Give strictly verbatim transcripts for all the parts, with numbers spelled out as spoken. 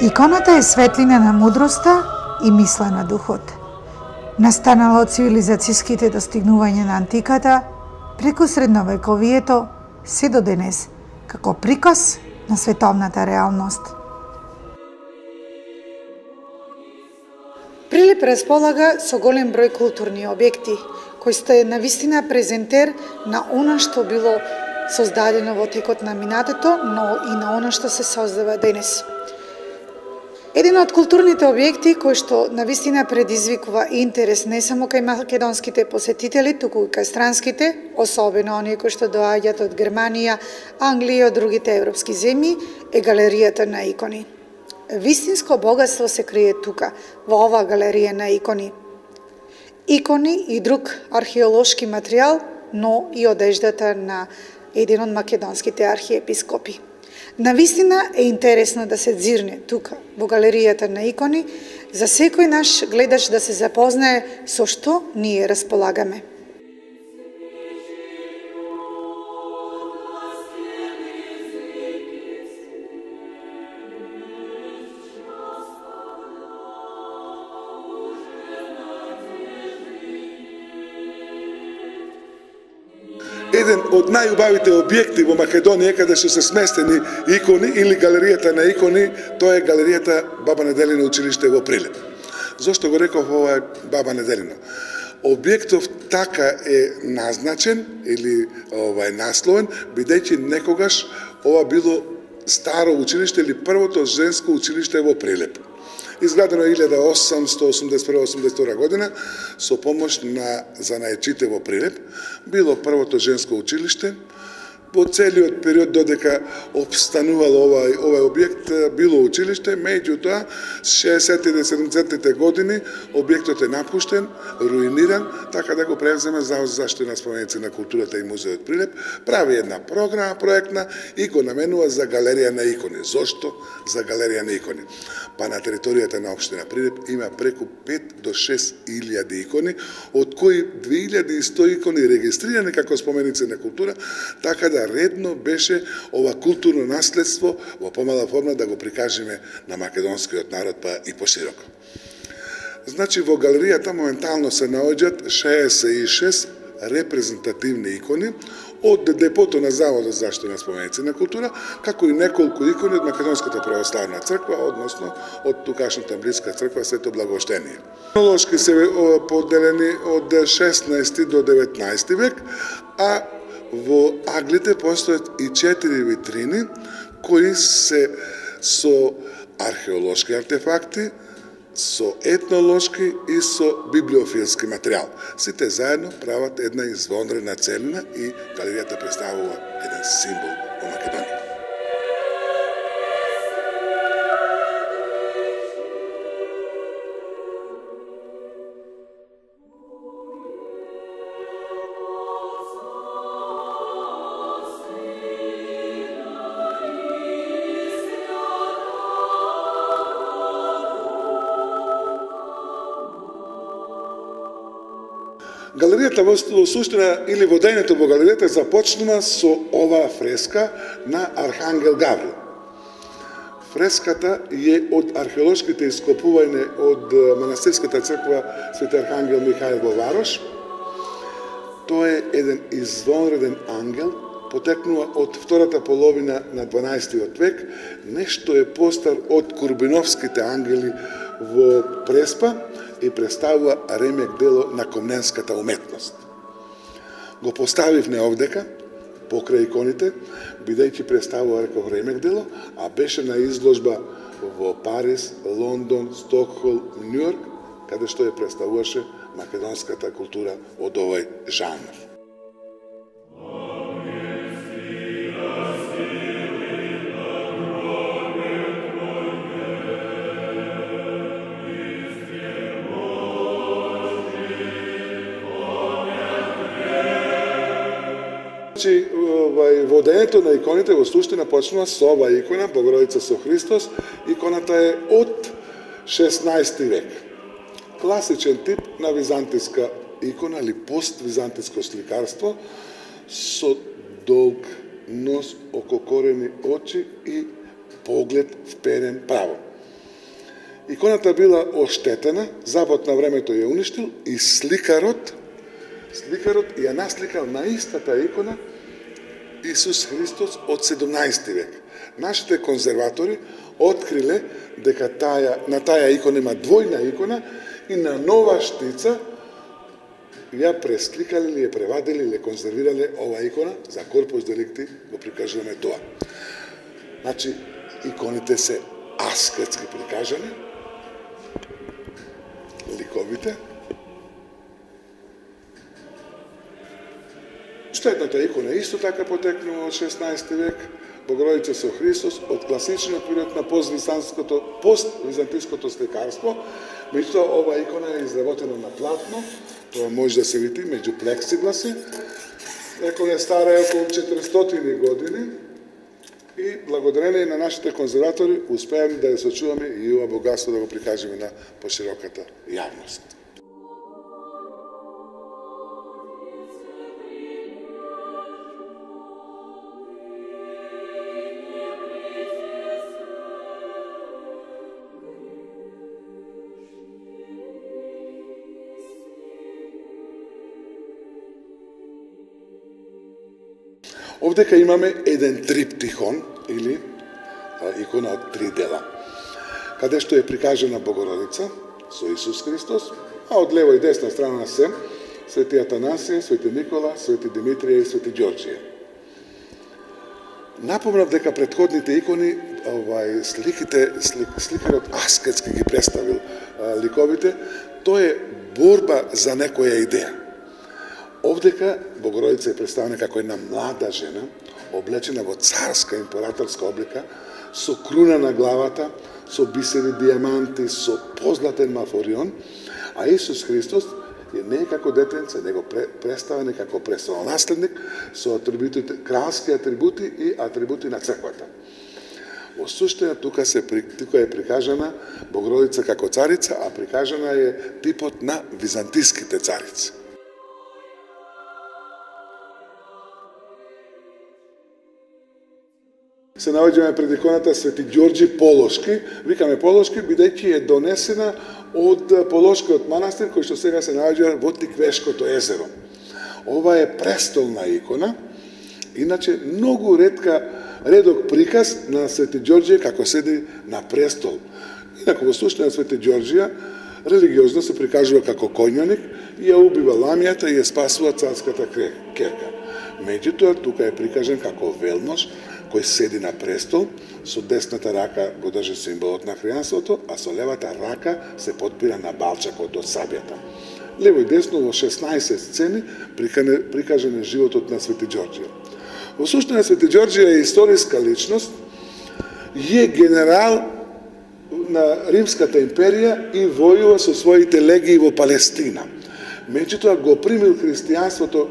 Иконата е светлина на мудроста и мисла на духот. Настанала од цивилизацијските достигнувања на антиката, преку средновековието, се до денес, како приказ на световната реалност. Прилеп располага со голем број културни објекти, кои сте навистина презентер на она што било создадено во текот на минатото, но и на она што се создава денес. Еден од културните објекти кој што навистина предизвикува интерес не само кај македонските посетители, туку и кај странските, особено оние кои што доаѓаат од Германија, Англија и од другите европски земји, е галеријата на икони. Вистинско богатство се крие тука, во оваа галерија на икони. Икони и друг археолошки материјал, но и одеждата на еден од македонските архиепископи. Навистина е интересно да се дзирне тука, во галеријата на икони, за секој наш гледач да се запознае со што ние располагаме. Еден од најубавите објекти во Македонија каде што се сместени икони или галеријата на икони, тоа е галеријата Баба Неделина училиште во Прилеп. Зошто го реков ова е Баба Неделина? Објектов така е назначен или ова е насловен, бидејќи некогаш ова било старо училиште или првото женско училиште во Прилеп. Изградено е илјада осумстотини осумдесет и прва осумдесет и втора година со помош на занаечите во Прилеп. Било првото женско училиште. Во целиот период додека обстанувало овај, овај објект, било училиште, меѓутоа, шеесеттите и седумдесеттите години објектот е напуштен, руиниран, така да го превземе Завод за заштита на споменици на културата и музеот Прилеп, прави една програма проектна и го наменува за галерија на икони. Зошто за галерија на икони? Па на територијата на општина Прилеп има преку пет до шест илјади икони, од кои две илјади и сто икони регистрирани како споменици на култура, така да редно беше ова културно наследство во помала форма да го прикажеме на македонскиот народ, па и пошироко. Значи, во галеријата моментално се наоѓаат шеесет и шест репрезентативни икони од депото на Заводот за заштита на споменици на култура, како и неколку икони од Македонската православна црква, односно од тукашната блиска црква Свето Благовештение. Хронолошки се поделени од шеснаести до деветнаести век, а во аглите постојат и четири витрини кои се со археолошки артефакти, со етнолошки и со библиофилски материјал. Сите заедно прават една извонредна целина и галеријата представува еден символ во Македонија. Галеријата во суштина или водењето во галеријата започнува со оваа фреска на Архангел Гаврил. Фреската е од археолошките ископувања од манастирската црква Свети Архангел Михаил во Варош. Тој е еден извонреден ангел, потекнува од втората половина на дванаесеттиот век, нешто е постар од Курбиновските ангели во Преспа и представува ремек дело на комненската уметност. Го поставивме овдека, покрај иконите, бидејќи представува, реков, ремек дело, а беше на изложба во Париз, Лондон, Стокхолм, Њујорк, каде што ја представуваше македонската култура од овој жанр. Значи, водењето на иконите во суштина почнува со ова икона, Богородица со Христос. Иконата е од шеснаесети век. Класичен тип на византиска икона или пост-византиско сликарство со долг нос, ококорени очи и поглед вперен право. Иконата била оштетена, Запад на времето ја уништил и сликарот Сликарот ја насликал на истата икона Исус Христос од седумнаесети век. Нашите конзерватори откриле дека таја, на таја икона има двојна икона и на нова штица ја пресликале или ја превадиле или ја конзервирале ова икона за корпус деликти, го прикажуваме тоа. Значи, иконите се аскетски прикажани, ликовите. Штетната икона исто така потекнува од шеснаесети век, Богородица со Христос, од класичниот период на пост-византиското, пост-византиското сликарство. Меѓутоа, ова икона е изработена на платно, тоа може да се види меѓу плексигласи. Икона е стара е околу четиристотини години и благодарение на нашите конзерватори успеаме да ја сочуваме и ова богатство да го прикажеме на пошироката јавност. Овдека имаме еден триптихон, или а, икона од три дела, каде што е прикажена Богородица со Исус Христос, а од лево и десна страна се Свети Атанасија, Свети Никола, Свети Димитрија и Свети Ѓорѓија. Напомнав дека претходните икони, овај, сликите, слик, сликарот аскетски ги представил а, ликовите, тоа е борба за некоја идеја. Овдека Богородица е представена како една млада жена, облечена во царска императорска облика, со круна на главата, со бисери диаманти, со позлатен мафорион, а Исус Христос е не како детенце, него представен како престолонаследник со атрибутите, кралски атрибути и атрибути на црквата. Во суштина тука се тука е прикажана Богородица како царица, а прикажана е типот на византиските царици. Се наоѓаме пред иконата Свети Ѓорѓи Полошки. Викаме Полошки, бидејќи е донесена од Полошкиот манастир, кој што сега се наоѓа во Тиквешкото езеро. Ова е престолна икона, иначе многу ретка, редок приказ на Свети Ѓорѓија како седи на престол. Инаку во суштина Свети Ѓорѓија религиозно се прикажува како коњаник и ја убива ламијата и ја спасува царската керка. Меѓутоа, тука е прикажен како велмош, кој седи на престол, со десната рака го држи символот на хријанството, а со левата рака се подпира на балчакот од сабјата. Лево и десно во шеснаесет сцени прикажен е животот на Свети Ѓорѓија. Во суштина Свети Ѓорѓија е историска личност, е генерал на Римската империја и војува со своите легии во Палестина. Меѓутоа го примил христијанството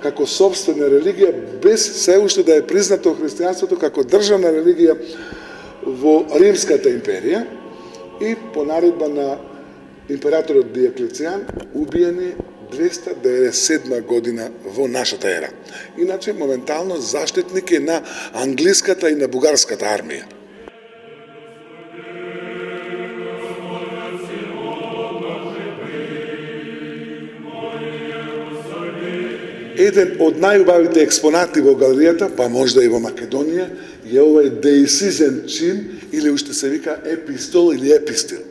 како собствена религија, без се уште да е признато христијанството како државна религија во Римската империја и по наредба на императорот Диоклецијан убиени двеста деветдесет и седма година во нашата ера. Иначе, моментално заштитник е на англиската и на бугарската армија. Еден од најубавите експонати во галеријата, па можда и во Македонија, е овој деисизен чин, или уште се вика епистол или епистил.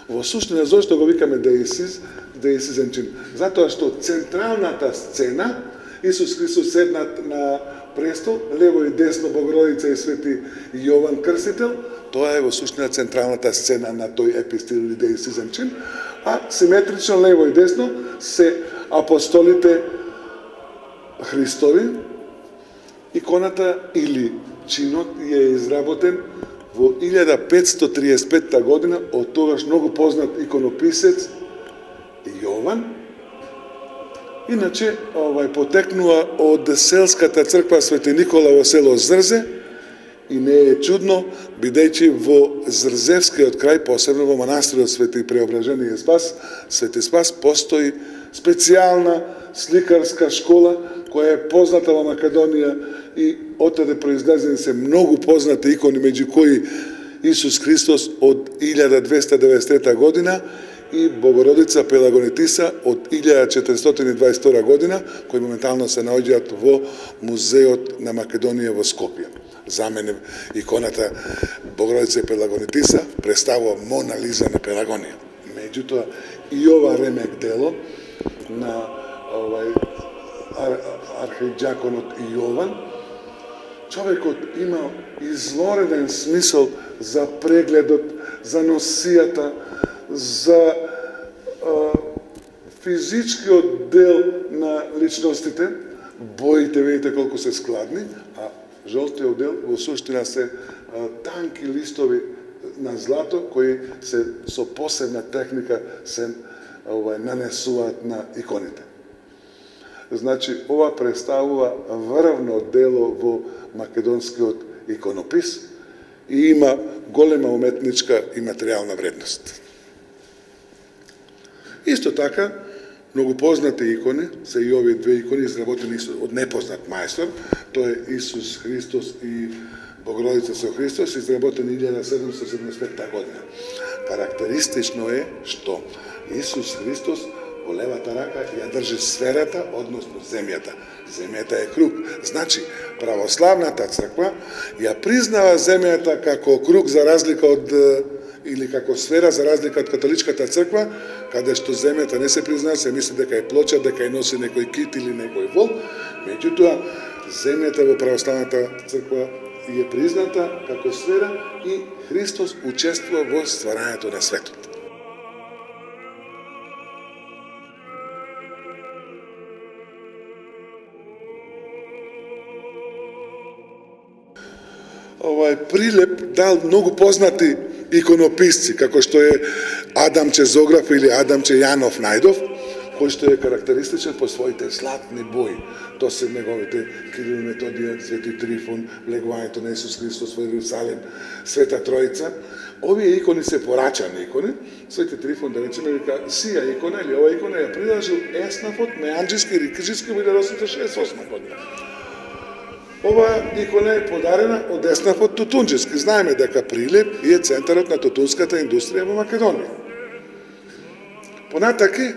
Во суштина, зошто го викаме деисиз, деисизен чин? Затоа што централната сцена, Исус Христос седнат на престол, лево и десно Богородица и Свети Јован Крстител, тоа е во суштина централната сцена на тој епистил или деисизен чин, а симетрично лево и десно се апостолите Христови. Иконата или чинот е изработен во илјада петстотини триесет и петта година од тогаш многу познат иконописец Јован. Иначе, овај потекнува од селската црква Свети Никола во село Зрзе и не е чудно, бидејќи во Зрзевскиот крај, посебно во манастирот Свети Преображение Спас, Свети Спас, постои специјална сликарска школа која е позната во Македонија и оттаде произлезени се многу познати икони, меѓу кои Исус Христос од илјада двеста деветдесет и трета година и Богородица Пелагонитиса од илјада четиристотини дваесет и втора година, кои моментално се наоѓаат во Музеот на Македонија во Скопје. За мене иконата Богородица Пелагонитиса представува Мона Лиза на Пелагонија. Меѓутоа и ова ремек дело на овај ар, архиџаконот Јован, човекот има извореден смисол за прегледот, за носијата, за а, физичкиот дел на личностите. Боите, видите колку се складни, а жолтиот дел во суштина се а, танки листови на злато кои се со посебна техника се овај нанесуваат на иконите. Значи, ова представува врвно дело во македонскиот иконопис и има голема уметничка и материјална вредност. Исто така, многу познати икони се и овие две икони изработени од непознат мајстор, тоа е Исус Христос и Богородица со Христос, изработени илјада седумстотини седумдесет и петта година. Карактеристично е што Исус Христос во левата рака ја држи сферата, односно земјата. Земјата е круг. Значи, православната црква ја признава земјата како круг за разлика од или како сфера за разлика од католичката црква, каде што земјата не се признава, се мисли дека е плоча, дека ја носи некој кит или некој вол. Меѓутоа, земјата во православната црква е призната како сфера и Христос учествува во стварањето на светот. Овај прилеп дал многу познати иконописци, како што е Адамче Зограф или Адамче Јанов Најдов, кој што е карактеристичен по своите златни бои. Тоа се неговите Кирил и Методија, Свети Трифон, влегувањето на Исус Христос во Иерусалим, Света Тројца. Овие икони се порачани икони. Свети Трифон, да речеме, вика, сија икона или ова икона ја приложил Еснафот, Меанџиски, Рикиџиски во илјада осумстотини шеесет и осма година. Ова икона е подарена од Еснафот Тутунџиски. Знаеме дека Прилеп е центарот на тутунската индустрија во Македонија. Понатаки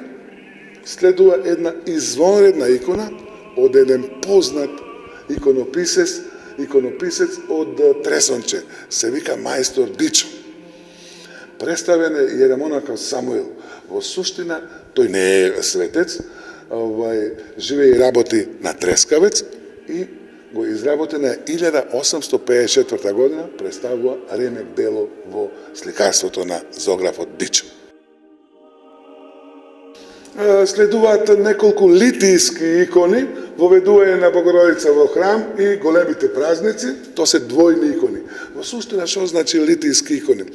следува една извонредна икона од еден познат иконописец, иконописец од Тресонче, се вика мајстор Бичо. Представен е јеремонахот Самуил. Во суштина, тој не е светец, овај, живее и работи на Трескавец и го изработена илјада осумстотини пеесет и четврта година, представува ремек дело во сликарството на Зографот Бичо. Следуваат неколку литијски икони, воведување на Богородица во храм и големите празници, тоа се двојни икони. Во суштина, што значи литијски икони?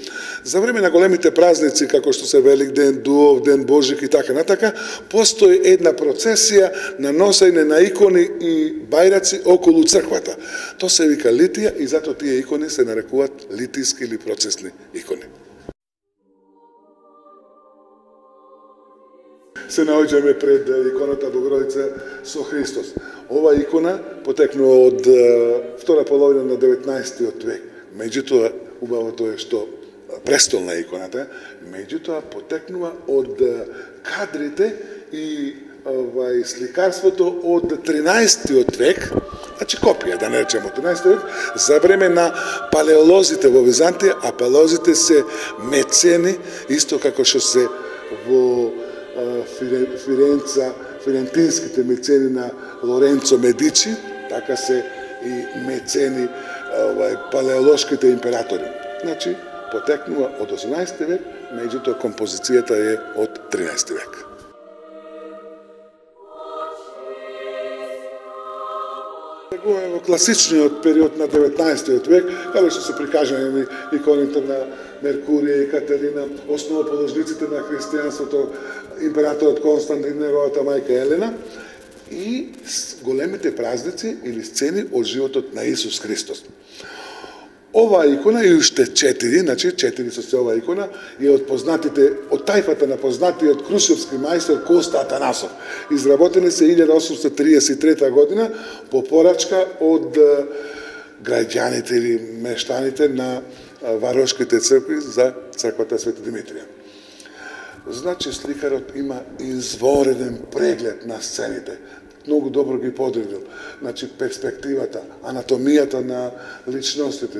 За време на големите празници, како што се Велик ден, Дуов ден, Божик и така натака, постои една процесија на носење на икони и бајраци околу црквата. Тоа се вика литија и затоа тие икони се нарекуваат литијски или процесни икони. се наоѓаме пред иконата Богородица со Христос. Ова икона потекнува од втора половина на деветнаесеттиот век. Меѓутоа, убавото е што престолна иконата, меѓутоа потекнува од кадрите и овај сликарството од тринаесеттиот век, значи копија, да не речеме од тринаесеттиот век, за време на палеолозите во Византија, а палеолозите се мецени, исто како што се во Фиренца, фирентинските мецени на Лоренцо Медичи, така се и мецени овај палеолошките императори. Значи, потекнува од осумнаесети век, меѓутоа композицијата е од тринаесети век. Во класичниот период на деветнаесеттиот век, каде што се прикажани иконите на Меркурија и Катерина, основоположниците на христијанството, императорот Константин, неговата мајка Елена, и големите празници или сцени од животот на Исус Христос. Ова икона и уште четири, значи четири со се ова икона, е од познатите, од тајфата на познатиот крушевски мајстор Коста Атанасов. Изработени се илјада осумстотини триесет и трета година по порачка од граѓаните или мештаните на варошките цркви за црквата Свети Димитрија. Значи, сликарот има извореден преглед на сцените. Многу добро ги подредил. Значи, перспективата, анатомијата на личностите,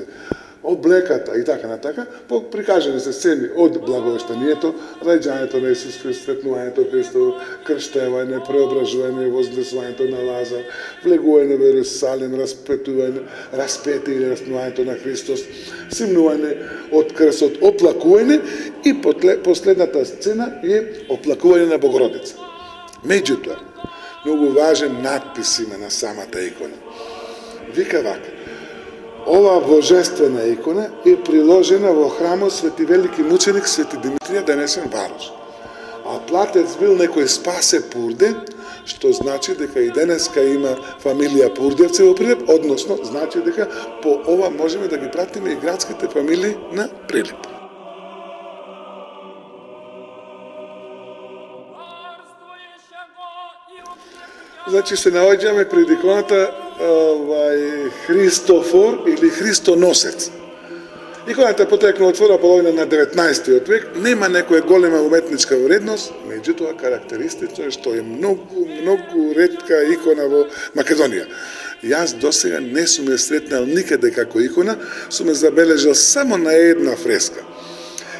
облеката и така натака, прикажани се сцени од благовештанието, раѓањето на Исус Христос, светнувањето Христово, крштевање, преображување, вознесувањето на Лазар, влегување во Ерусалим, распетување, распети или распнувањето на Христос, симнување од крстот, оплакување и последната сцена е оплакување на Богородица. Меѓутоа, многу важен надпис има на самата икона. Вика вака: ова божествена икона е приложена во храмот Свети Велики мученик Свети Димитрија, денесен Варош. А платец бил некој Спасе Пурде, што значи дека и денеска има фамилија Пурдевци во Прилеп, односно значи дека по ова можеме да ги пратиме и градските фамилии на Прилеп. Значи се наоѓаме пред иконата овај Христофор или Христоносец. Иконата потекнува од втора половина на деветнаесеттиот век, нема некоја голема уметничка вредност, меѓутоа карактеристично е што е многу, многу ретка икона во Македонија. Јас досега не сум ја сретнал никаде како икона, сум ја забележал само на една фреска.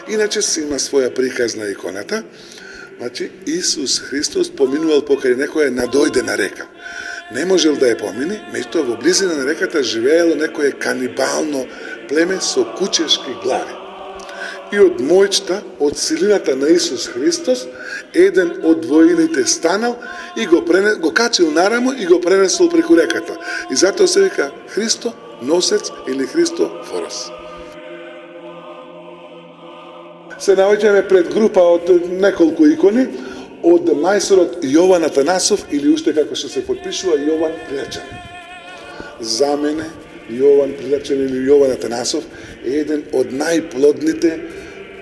Иначе си има своја приказ на иконата. Значи, Исус Христос поминувал покрај некоја надојдена река. Не можел да ја помини, меѓутоа во близина на реката живеело некое канибално племе со кучешки глави. И од моќта, од силината на Исус Христос, еден од воините станал и го, пренес, го качил нарамо и го пренесол преку реката. И затоа се вика Христо Носец или Христо Форос. Се наоѓаме пред група од неколку икони, од мајсторот Јован Атанасов, или уште како што се подпишува Јован Прилепчанин. За мене, Јован Прилепчанин или Јован Атанасов е еден од најплодните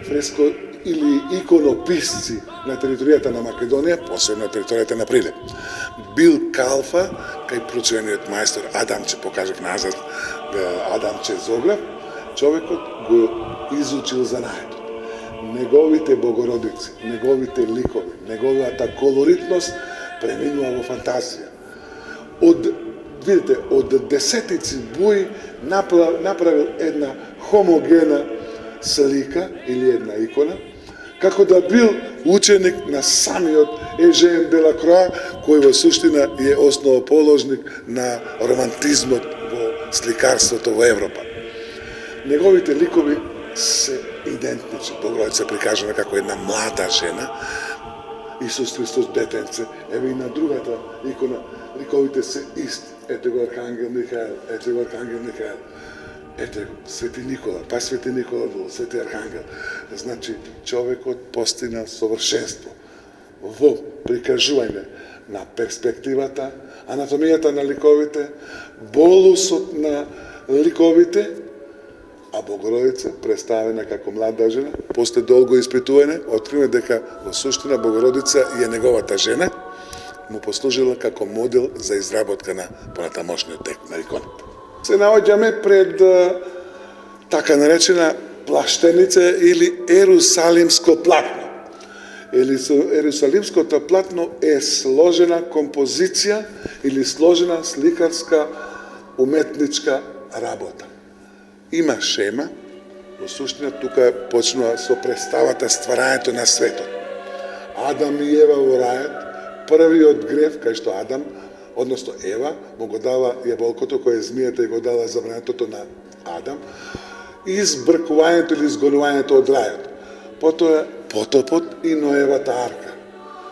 фреско или иконописци на територијата на Македонија, посебно на територијата на Прилеп. Бил калфа кај прочувениот мајстор Адамче, покажав назад Адамче Зограф, човекот го изучил занаето. Неговите богородици, неговите ликови, неговата колоритност преминува во фантазија. Од, видите, од десетици буи направил една хомогена слика или една икона, како да бил ученик на самиот Ежен Делакроа, кој во суштина е основоположник на романтизмот во сликарството во Европа. Неговите ликови се идентични. Богородица прикажана како една млада жена, Исус Христос детенце, еве и на другата икона, ликовите се исти. Ете го Архангел Михаел, ете го Архангел Михаел, ете го Свети Никола, па Свети Никола бил, Свети Архангел. Значи, човекот постигнал совршенство во прикажување на перспективата, анатомијата на ликовите, болусот на ликовите, а Богородица представена како млада жена. После долго испитување откриваме дека во суштина Богородица е неговата жена, му послужила како модел за изработка на понатамошниот текст на иконата. Се наоѓаме пред така наречена плаштеница или ерусалимско платно. Ерусалимското платно е сложена композиција или сложена сликарска уметничка работа. Има шема, во суштина тука почнува со представата стварањето на светот. Адам и Ева во рајот, првиот грев, кај што Адам, односно Ева, му го дава јаболкото кое змијата и го дала забранетото на Адам, избркувањето или изгонувањето од рајот. Потоа потопот и Ноевата арка.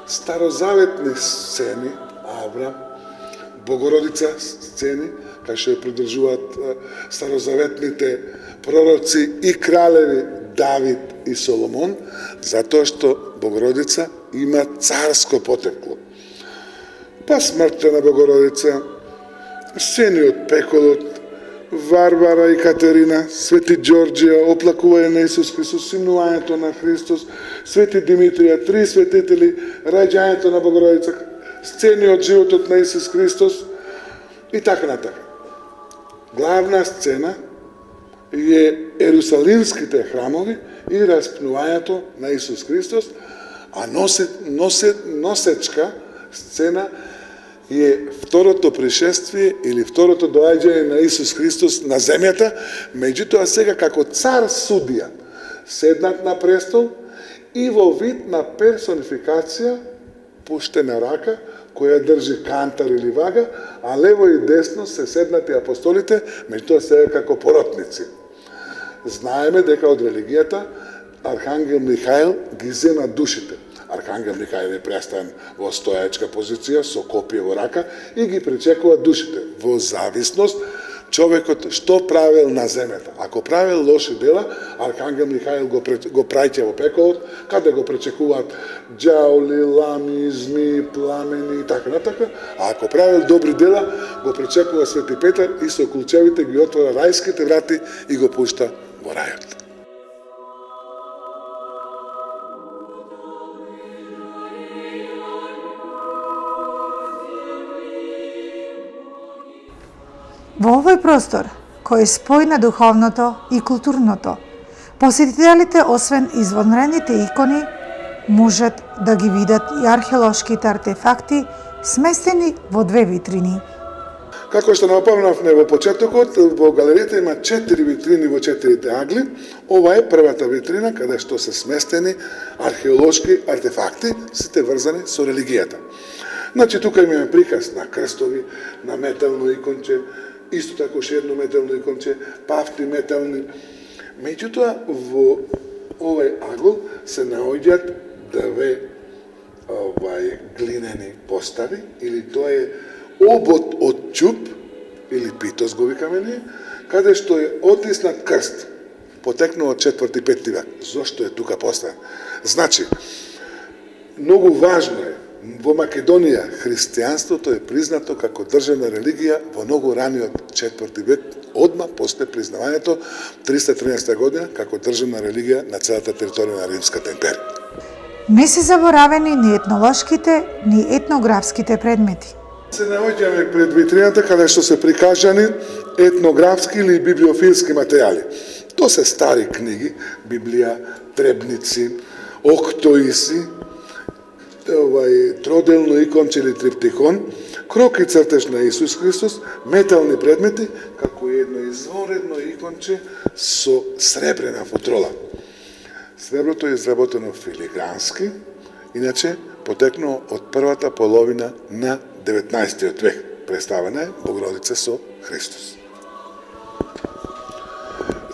Старозаветни сцени, Аврам, Богородица сцени, кај што ја придржуваат старозаветните пророци и кралеви Давид и Соломон, затоа што Богородица има царско потекло. Па смртта на Богородица, сцени од пеколот, Варвара и Катерина, Свети Ѓорđија, оплакување на Исус Христос, симнувањето на Христос, Свети Димитрија, три светители, раѓањето на Богородица, сцени од животот на Исус Христос и така натака. Главна сцена е ерусалимските храмови и распнувањето на Исус Христос, а носе, носе, носечка сцена е второто пришествие или второто доаѓање на Исус Христос на земјата, меѓутоа сега како цар судија, седнат на престол и во вид на персонификација пуштена рака, која држи кантар или вага, а лево и десно се седнати апостолите, меѓутоа сега како поротници. Знаеме дека од религијата Архангел Михаил ги зема душите. Архангел Михаил е преставен во стојачка позиција со копие во рака и ги пречекува душите во зависност човекот што правил на земјата. Ако правил лоши дела, Архангел Михаил го, го праќа во пеколот, каде го пречекуваат ѓаоли, лами, зми, пламени и така натака, а ако правил добри дела, го пречекува Свети Петар и со кулчевите ги отвора рајските врати и го пушта во рајот. Во овој простор, кој е спој на духовното и културното, посетителите, освен извонредните икони, можат да ги видат и археолошките артефакти сместени во две витрини. Како што напомнавме во почетокот, во галеријата има четири витрини во четирите агли. Ова е првата витрина каде што се сместени археолошки артефакти, сите врзани со религијата. Значи, тука имаме приказ на крстови, на метално иконче, исто така уште едно метално иконче, пафти метални. Меѓутоа, во овој агол се наоѓаат две овај глинени постави, или тоа е обод од ќуп, или питос го викаме ние, каде што е отиснат крст, потекнува од четврти петти век. Зошто е тука поставен? Значи, многу важно е, во Македонија христијанството е признато како државна религија во многу раниот четврти век, одма после признавањето триста и тринадесета година како државна религија на целата територија на Римската империја. Не се заборавени ни етнолошките, ни етнографските предмети. Се наоѓаме пред витрината каде што се прикажани етнографски или библиофилски материјали. Тоа се стари книги, Библија, требници, октоиси, овај троделно иконче или триптихон, крок и цртеж на Исус Христос, метални предмети, како едно изворедно иконче со сребрена футрола. Среброто е изработено филигрански, иначе потекнало од првата половина на деветнаесеттиот век. Представена е Богородица со Христос.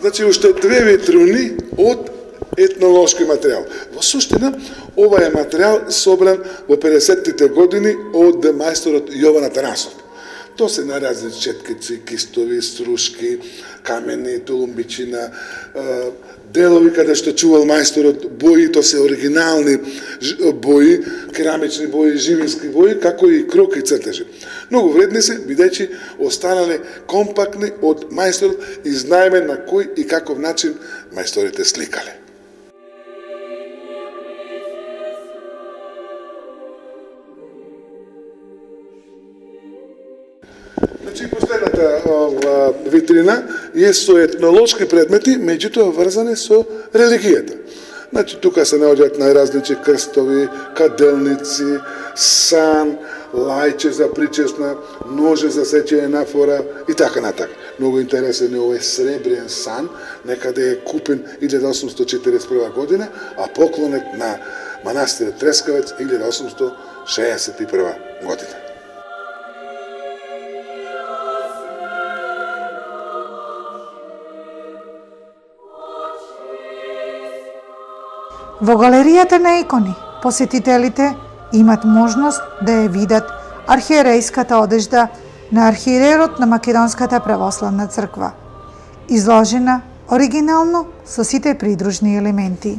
Значи, уште две витрини од етнолошки материјал. Во суштина, ова е материјал собран во педесеттите години од мајсторот Јован Атанасов. Тоа се наразни четкици, кистови, струшки, камени, тулумбичина, делови каде што чувал мајсторот бои, тоа се оригинални бои, керамични бои, живински бои, како и кроки и цртежи. Многу вредни се, бидејќи останале компактни од мајсторот и знаеме на кој и каков начин мајсторите сликале. Значи, последната ова, витрина е со етнолошки предмети, меѓутоа врзани со религијата. Значи, тука се наоѓаат најразлични крстови, каделници, сан, лајче за причесна, ноже за сечење на фора и така натака. Многу интересен е овој сребрен сан, некаде е купен илјада осумстотини четиридесет и прва година, а поклонет на манастирот Трескавец илјада осумстотини шеесет и прва година. Во галеријата на икони, посетителите имат можност да ја видат архиерејската одежда на архиерерот на Македонската православна црква, изложена оригинално со сите придружни елементи.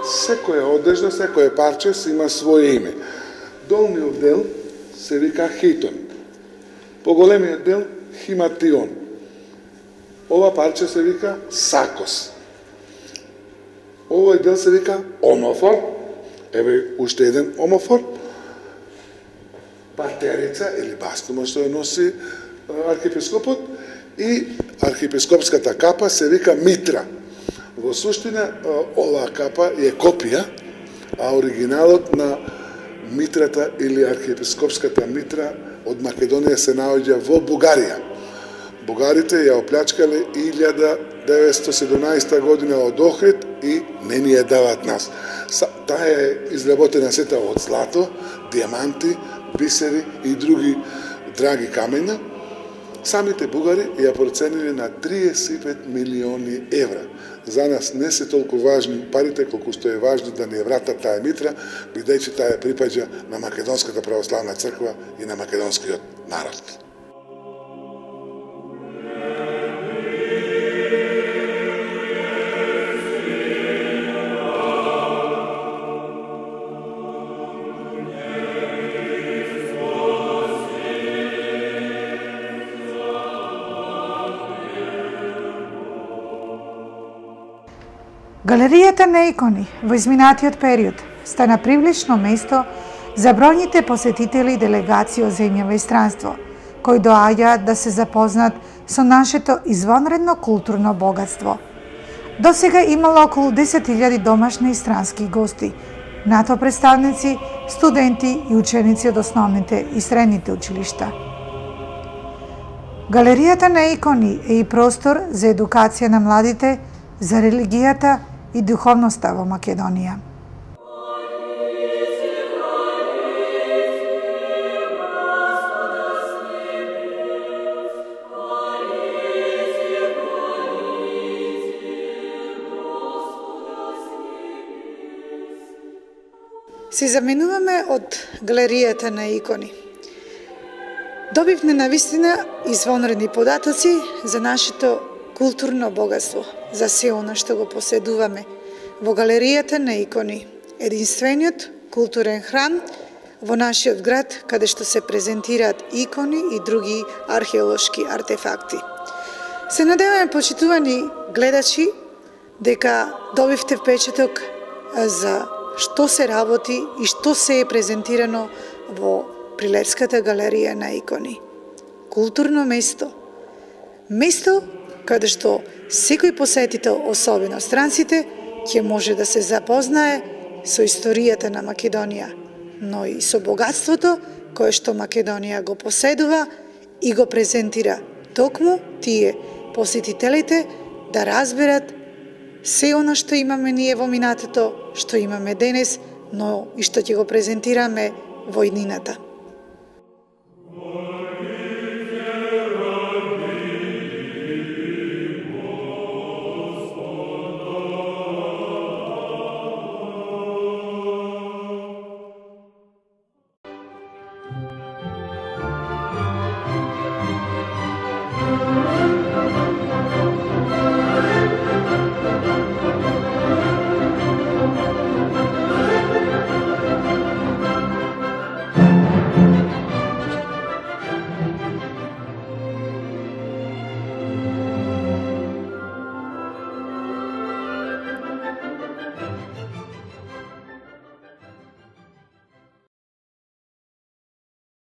Секоја одежда, секоја парче си има своје име. Долниот дел се вика хитон, поголемиот дел химатион. Ова парче се вика сакос. Овој дел се вика омофор, еве уште еден омофор. Патерица или бастума што ја носи архиепископот и архиепископската капа се вика митра. Во суштина оваа капа е копија, а оригиналот на митрата или архиепископската митра од Македонија се наоѓа во Бугарија. Бугарите ја оплячкале илјада деветстотини и седумнаесета година од Охрид и не ни ја даваат нас. Таа е изработена сета од злато, диаманти, бисери и други драги камења. Самите бугари ја процениле на триесет и пет милиони евра. За нас не се толку важни парите колку што е важно да ни вратат таа митра, бидејќи таа припаѓа на Македонската православна црква и на македонскиот народ. Галеријата на икони во изминатиот период стана привлечно место за бројните посетители и делегации од земјава и странство, кои доаѓаат да се запознат со нашето извонредно културно богатство. До сега имало околу десет илјади домашни и странски гости, нато представници, студенти и ученици од основните и средните училишта. Галеријата на икони е и простор за едукација на младите за религијата и духовноста во Македонија. Се заменуваме од галеријата на икони. Добивме навистина извонредни податоци за нашето културно богатство, за се она што го поседуваме во галеријата на икони, единствениот културен храм во нашиот град, каде што се презентираат икони и други археолошки артефакти. Се надеваме, почитувани гледачи, дека добивте впечаток за што се работи и што се е презентирано во Прилепската галерија на икони. Културно место. Место каде што секој посетител, особено странците, ќе може да се запознае со историјата на Македонија, но и со богатството кое што Македонија го поседува и го презентира токму тие посетителите да разберат се она што имаме ние во минатото, што имаме денес, но и што ќе го презентираме во иднината.